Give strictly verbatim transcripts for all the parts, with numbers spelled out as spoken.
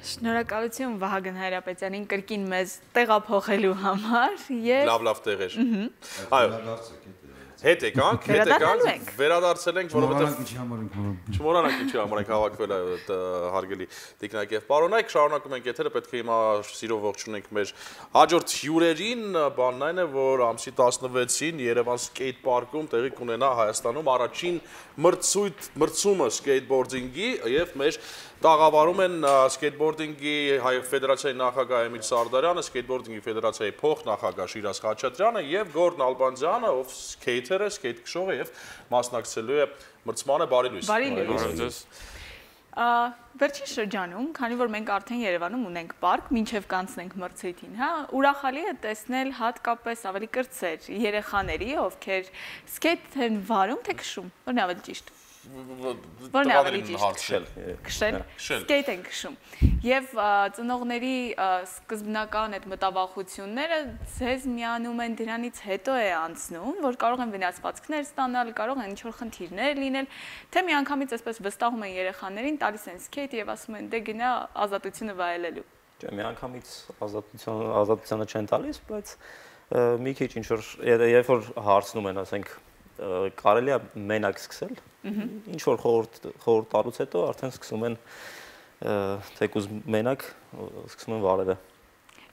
Շնորհակալություն Վահագն Հայրապետյանին կրկին մեզ տեղափոխելու համար եւ լավ լավ տեղեր։ Այո։ Հետ եկանք, հետ եկանք, վերադարձել ենք, որովհետեւ չմոռանանք ինչի համար ենք հավաքվել այդ հարգելի տիկնայք եւ պարոնայք, շարունակում ենք եթերը, պետք է հիմա սիրով ողջունենք մեր հաջորդ հյուրերին, բանն այն է, որ ամսի տասնվեցին Երևան սկեյթ պարկում տեղի կունենա Հայաստանում առաջին մրցույթ մրցումը սկեյթբորդինգի եւ մեր տաղավարում են սկեյթբորդինգի հայ ֆեդերացիայի նախագահ Էմիլ Սարդարյանը, սկեյթբորդինգի ֆեդերացիայի փոխնախագահ Շիրազ Խաչատրյանը եւ Գորն Ալբանդյանը, ով սկեյթեր է, սկեյթ քշող է եւ մասնակցելու է մրցմանը։ Բարի լույս։ Բարի լույս։ Վերջին շրջանում, քանի որ մենք արդեն Երևանում ունենք պարկ, մինչև կանցնենք մրցույթին, հա, ուրախալի է տեսնել հատկապես ավելի կրտսեր երեխաների, ովքեր սկեյթ են վարում, թե քշում, որն է ավելի ճիշտ։ Որն է ավելի ճիշտ քշել, սկեյթ են քշում եւ ծնողների սկզբնական այդ մտավախությունները ձեզ միանում են դրանից հետո է անցնում, որ կարող են վնասվածքներ ստանալ, կարող են ինչ-որ խնդիրներ լինել, թե միանգամից այսպես վստահում են երեխաներին, տալիս են սկեյթ եւ ասում են դե գնա ազատությունը վայելելու։ Չէ, միանգամից ազատություն ազատությունը չեն տալիս, բայց մի քիչ ինչ որ երբ որ հարցնում են, ասենք կարելի է մենակ սկսել, ինչ որ խորհուրդ խորհուրդ տալուց հետո արդեն սկսում են թեկուզ մենակ սկսում են վարելը։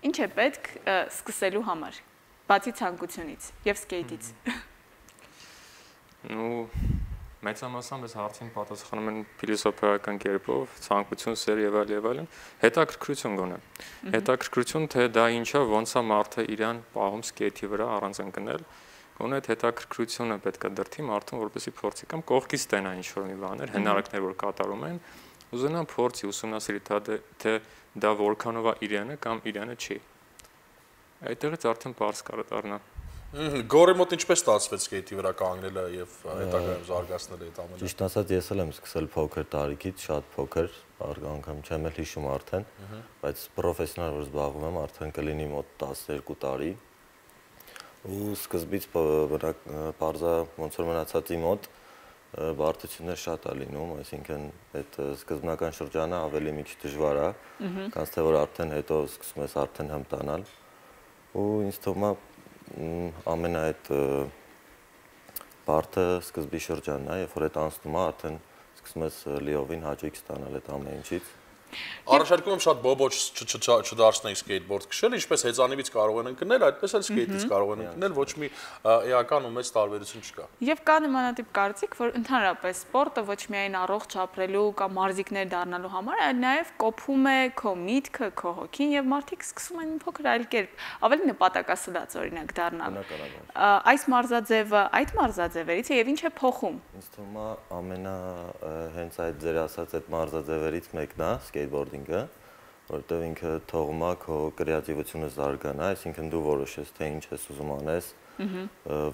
Ինչ է պետք սկսելու համար, բացի ցանկությունից եւ սկեյթից։ Ну, մեծամասամբ այս հարցին պատասխանում են փիլիսոփայական կերպով, ցանկություն, սեր եւ այլ եւ այլն, հետաքրքրություն գոնե։ Հետաքրքրություն, թե դա ինչա, ոնց է մարդը իրան պահում սկեյթի վրա առանց ընկնել։ Գոնե այդ հետաքրքրությունը պետք է դրթի մարդուն, որպեսզի փորձի կամ կողքից տենա ինչ-որ մի բաներ, հնարակներ, որ կատարում են, ուզենա փորձի ուսումնասիրի թե դա որքանով է իրանը կամ իրանը չի։ Այդտեղից արդեն բարձ կարող դառնա։ Գորի մոտ ինչպես ստացվեց սկեյթի վրա կանգնելը եւ հետագայում զարգացնելը այդ ամենը։ Ճիշտ ասած, ես էլ եմ սկսել փոքր տարիքից, շատ փոքր, անգամ չեմ էլ հիշում արդեն, բայց պրոֆեսիոնալ որ զբաղվում եմ, արդեն կլինի մոտ տասներկու տարի։ Ու սկզբից պարզա ոնց որ մնացածի մոտ բարդություններ շատ է լինում, այսինքն այդ սկզբնական շրջանը ավելի մի քիչ դժվար է, կանց թե որ արդեն հետո սկսում ես արդեն հմտանալ ու ինձ թվում է ամենա այդ բարդը սկզբի շրջանն է, երբ որ այդ անցնում է, արդեն սկսում ես լիովին հաճույք ստանալ այդ ամեն ինչից։ Առաջարկում եմ շատ բոբոչ չդարձնենք սկեյթբորդ քշել, ինչպես հեծանիվից կարող են ընկնել, այդպես էլ սկեյթից կարող են ընկնել, ոչ մի էական ու մեծ տարբերություն չկա։ Եվ կա նմանատիպ կարծիք, որ ընդհանրապես սպորտը ոչ միայն առողջ ապրելու կամ մարզիկներ դառնալու համար, այլ նաև կոփում է քո միտքը, քո հոգին եւ մարդիկ սկսում են մի փոքր այլ կերպ, ավելի նպատակասլաց օրինակ դառնալ։ Այս մարզաձևը այդ մարզաձևերից է եւ ինչ է փոխում։ Ինձ թվում է ամենա հենց այդ ձեր ասած այդ մարզաձևերից մեկն է սկեյթբորդինգը, որտեղ ինքը թողում է քո կրեատիվությունը զարգանա, այսինքն դու որոշես թե ինչ ես ուզում անես,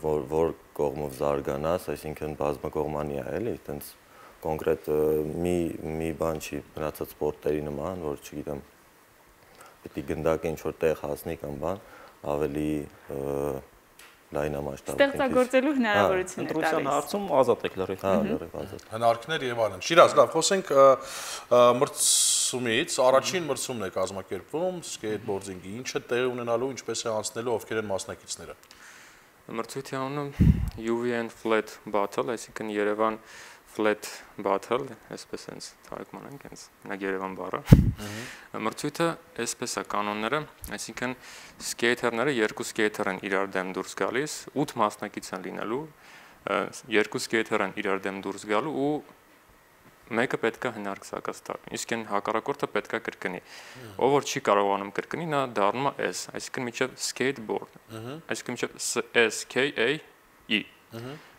որ որ կողմով զարգանաս, այսինքն բազմակողմանի է, էլի, այտենց կոնկրետ մի մի բան չի մնացած սպորտերի նման, որ չգիտեմ, պետք է գնդակը ինչ որ տեղ հասնի կամ բան, ավելի լայնամասշտաբ ստեղծագործելու հնարավորություն է տալիս։ Ընտրության հարցում ազատ եք լրիվ։ Հա, լրիվ ազատ։ Հնարքներ եւ այլն։ Շիրազ, լավ, խոսենք մրցումից, առաջին մրցումն է կազմակերպվում սկեյթբորդինգի, ինչ է տեղի ունենալու, ինչպես է անցնելու, ովքեր են մասնակիցները։ Մրցույթի անունը U V N Flat Battle, այսինքն Երևան Flat Battle, այսպես հենց թարգման ենք, հենց մենակ Երևան բառը։ Մրցույթը այսպես է կանոնները, այսինքն սկեյթերները երկու սկեյթեր են իրար դեմ դուրս գալիս, ութ մասնակից են լինելու, երկու սկեյթեր են իրար դեմ դուրս գալու ու մեկը պետք է հնարք սակած տա։ Իսկ այն հակառակորդը պետք է կրկնի։ Ով որ չի կարողանում կրկնի, նա դառնում է S, այսինքն միջև skateboard, այսինքն միջև S K A E։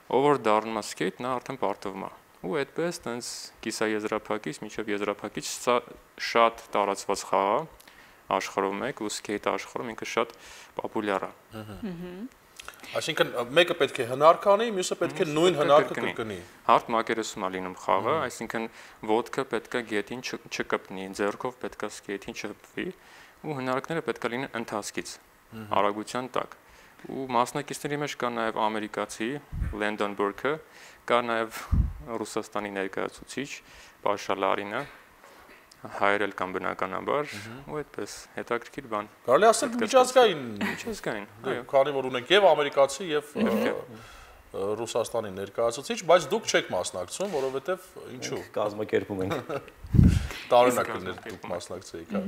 Ով որ դառնում է skate, նա արդեն պարտվում է։ Ու այդպես տենց կիսաեզրափակից միջև եզրափակից սա շատ տարածված խաղ է աշխարհում մեկ ու skate աշխարհում ինքը շատ պոպուլյար է։ Այսինքն մեկը պետք է հնարք անի, մյուսը պետք է նույն հնարքը կրկնի։ Հարթ մակերեսում է լինում խաղը, այսինքն ոտքը պետք է գետին չկպնի, ձեռքով պետք է skate-ին չհպվի ու հնարքները պետք է լինեն ընթացքից, արագության տակ։ Ու մասնակիցների մեջ կա նաև ամերիկացի Լենդոն Բուրքը, կա նաև Ռուսաստանի ներկայացուցիչ Պաշա Լարինը, հայերել կամ բնականաբար, ու այդպես հետաքրքիր բան։ Կարելի ասել միջազգային, միջազգային, այո, քանի որ ունենք եւ ամերիկացի եւ Ռուսաստանի ներկայացուցիչ, բայց դուք չեք մասնակցում, որովհետեւ ինչու։ Կազմակերպում ենք։ Տարօրինակ կներ դուք մասնակցեիք, հա։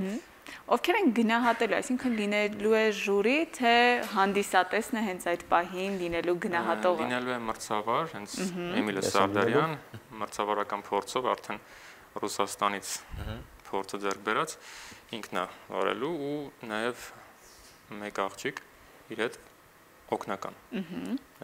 Ովքեր են գնահատելու, այսինքն լինելու է ժյուրի, թե հանդիսատեսն է հենց այդ պահին լինելու գնահատողը։ Լինելու է մրցավար, հենց Էմիլը Սարդարյան, մրցավարական փորձով արդեն Ռուսաստանից փորձը ձեռք բերած, ինքն է վարելու ու նաև մեկ աղջիկ իր հետ օգնական։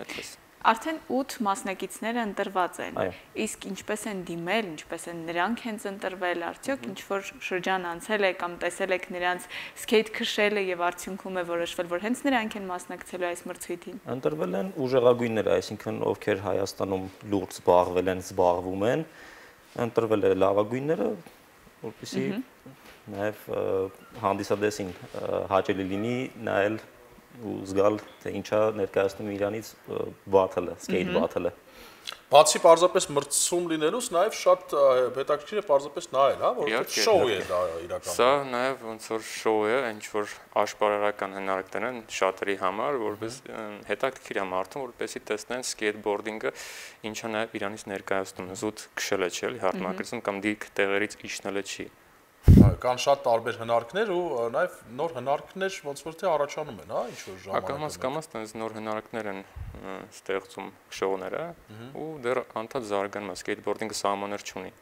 Այդպես։ Արդեն ութ մասնակիցները ընտրված են։ Իսկ ինչպես են դիմել, ինչպես են նրանք հենց ընտրվել, արդյոք ինչ որ շրջան անցել է կամ տեսել եք նրանց սկեյթ քշելը եւ արդյունքում է որոշվել, որ հենց նրանք են մասնակցելու այս մրցույթին։ Ընտրվել են ուժեղագույնները, այսինքն ովքեր Հայաստանում լուրջ զբաղվել են, զբաղվում են, ընտրվել է լավագույնները, որպեսզի նաև հանդիսադեսին հաճելի լինի նայել ու զգալ, թե ինչա ներկայացնում Իրանից բաթլը, սկեյթ բաթլը։ Բացի պարզապես մրցում լինելուց, նաև շատ հետաքրքիր է պարզապես նայել, հա, որովհետև շոու է դա իրականում։ Սա նաև ոնց որ շոու է, ինչ որ աշխարհական հնարքներ են շատերի համար, որպես հետաքրքիր է մարդուն, որպեսզի տեսնեն սկեյթբորդինգը ինչա նաև Իրանից ներկայացնում, զուտ քշելը չէ, էլի հարմարեցում կամ դիք տեղերից իջնելը չի։ Կան շատ տարբեր հնարքներ ու նաև նոր հնարքներ ոնց որ թե առաջանում են, հա, ինչ որ ժամանակ։ Ակամաս կամաս տենց նոր հնարքներ են ստեղծում շոուները ու դեռ անդադ զարգանում է, սկեյթբորդինգը սահմաններ չունի։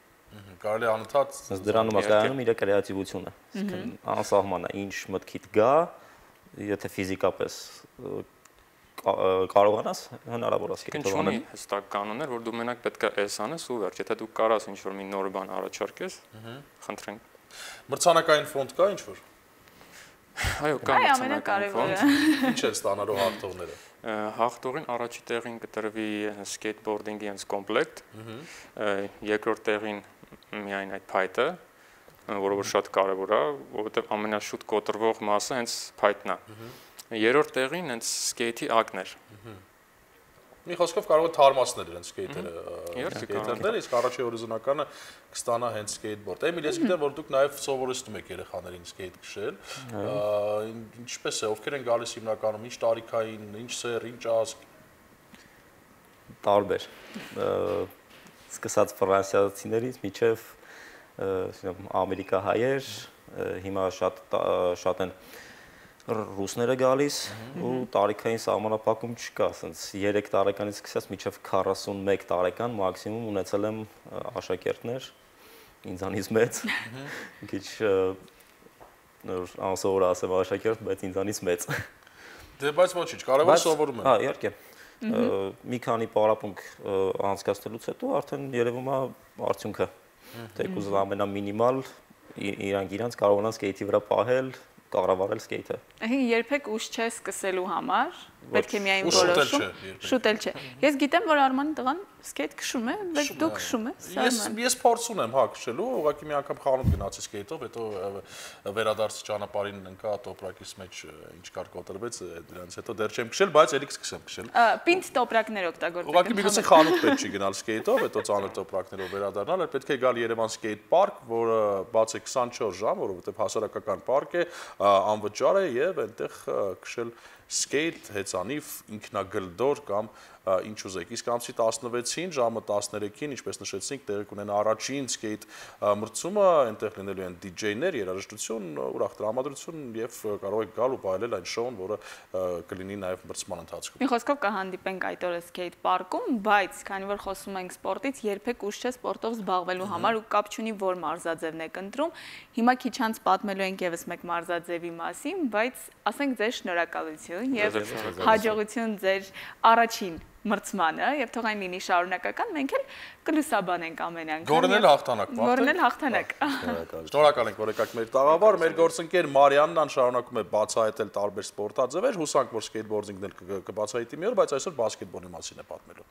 Կարելի է անընդհատ դրանում է կայանում իր կրեատիվությունը։ Անսահման է, ինչ մտքիդ գա, եթե ֆիզիկապես կարողանաս հնարավոր է սկեյթով անել։ Ինչու՞ հստակ կանոններ, որ դու մենակ պետք է էս անես ու վերջ, եթե դու կարաս ինչ որ մի նոր բան առաջարկես, խնդրենք։ Մրցանակային ֆոնդ կա ինչ որ։ Այո, կա մրցանակային ֆոնդ։ Ինչ են ստանալու հաղթողները։ Հաղթողին առաջի տեղին կտրվի սկեյթբորդինգի հենց կոմպլեկտ, երկրորդ տեղին միայն այդ փայտը, որը որ շատ կարևոր է, որովհետև ամենաշուտ կոտրվող մասը հենց փայտն է։ Երրորդ տեղին հենց սկեյթի ակներ։ Մի խոսքով կարող է թարմացնել իրենց սկեյթերը, սկեյթերները, իսկ առաջի հորիզոնականը կստանա հենց սկեյթբորդ։ Էմիլ, ես գիտեմ, որ դուք նաև սովորեցնում եք երեխաներին սկեյթ քշել։ Ինչպես է, ովքեր են գալիս հիմնականում, ինչ տարիքային, ինչ սեր, ինչ ազգ։ Տարբեր։ Սկսած ֆրանսիացիներից մինչև ամերիկահայեր, հիմա շատ շատ են ռուսները գալիս ու տարիքային սահմանափակում չկա, ասենց երեք տարեկանից սկսած մինչև քառասունմեկ տարեկան մաքսիմում ունեցել եմ աշակերտներ, ինձանից մեծ, քիչ անսովոր ասեմ աշակերտ, բայց ինձանից մեծ։ Դե բայց ոչինչ, կարևորը սովորում են։ Հա, իհարկե։ Մի քանի պարապմունք անցկացնելուց հետո արդեն երևում է արդյունքը։ Թեկուզ ամենամինիմալ իրանք իրանց կարողանան սկեյթի վրա պահել, կառավարել սկեյթը։ Այսինքն երբեք ուշ չէ սկսելու համար, պետք է միայն որոշում, շուտել չէ։ Ես գիտեմ, որ Արմանի տղան սկեյթ քշում է, բայց դու քշում ես։ Ես ես փորձ ունեմ հա քշելու, ուղղակի մի անգամ խանութ գնացի սկեյթով, հետո վերադարձի ճանապարհին ընկա տոպրակից մեջ ինչ կար կոտրվեց, դրանից հետո դեռ չեմ քշել, բայց ելիք սկսեմ քշել։ Պինդ տոպրակներ օգտագործեք։ Ուղղակի միգուցե խանութ պետք չի գնալ սկեյթով, հետո ծանր տոպրակներով վերադառնալ, այլ պետք է գալ Երևան սկեյթ պարկ, որը բաց է քսանչորս ժամ, որովհետև հասարակական պարկ է, անվճար է եւ այնտեղ քշել սկեյթ, հեծանիվ, ինքնագլդոր կամ ինչ ուզեք։ Իսկ ամսի տասնվեցին ժամը տասներեքին, ինչպես նշեցինք, տեղի կունենա առաջին սկեյթ մրցումը, այնտեղ լինելու են դիջեյներ, երաժշտություն, ուրախ տրամադրություն եւ կարող եք գալ ու վայելել այն շոուն, որը կլինի նաեւ մրցման ընթացքում։ Մի խոսքով կհանդիպենք այդ օրը սկեյթ պարկում, բայց քանի որ խոսում ենք սպորտից, երբեք ուշ չէ սպորտով զբաղվելու համար ու կապ չունի որ մարզաձևն եք ընտրում։ Հիմա քիչ անց պատմելու ենք եւս մեկ մարզաձևի մասին, բայց ասենք ձեր շնորհակալություն եւ հաջողություն ձեր առաջին մրցմանը եւ թող այն լինի շարունակական, մենք էլ կլուսաբանենք ամեն անգամ։ Գորնել հաղթանակ, Գորնել հաղթանակ։ Շնորհակալ ենք, որ եկաք մեր տաղավար, մեր գործընկեր Մարիաննան շարունակում է բացահայտել տարբեր սպորտաձևեր, հուսանք, որ սկեյթբորդինգն էլ կբացահայտի մի օր, բայց այսօր բասկետբոլի մասին է պատմելու։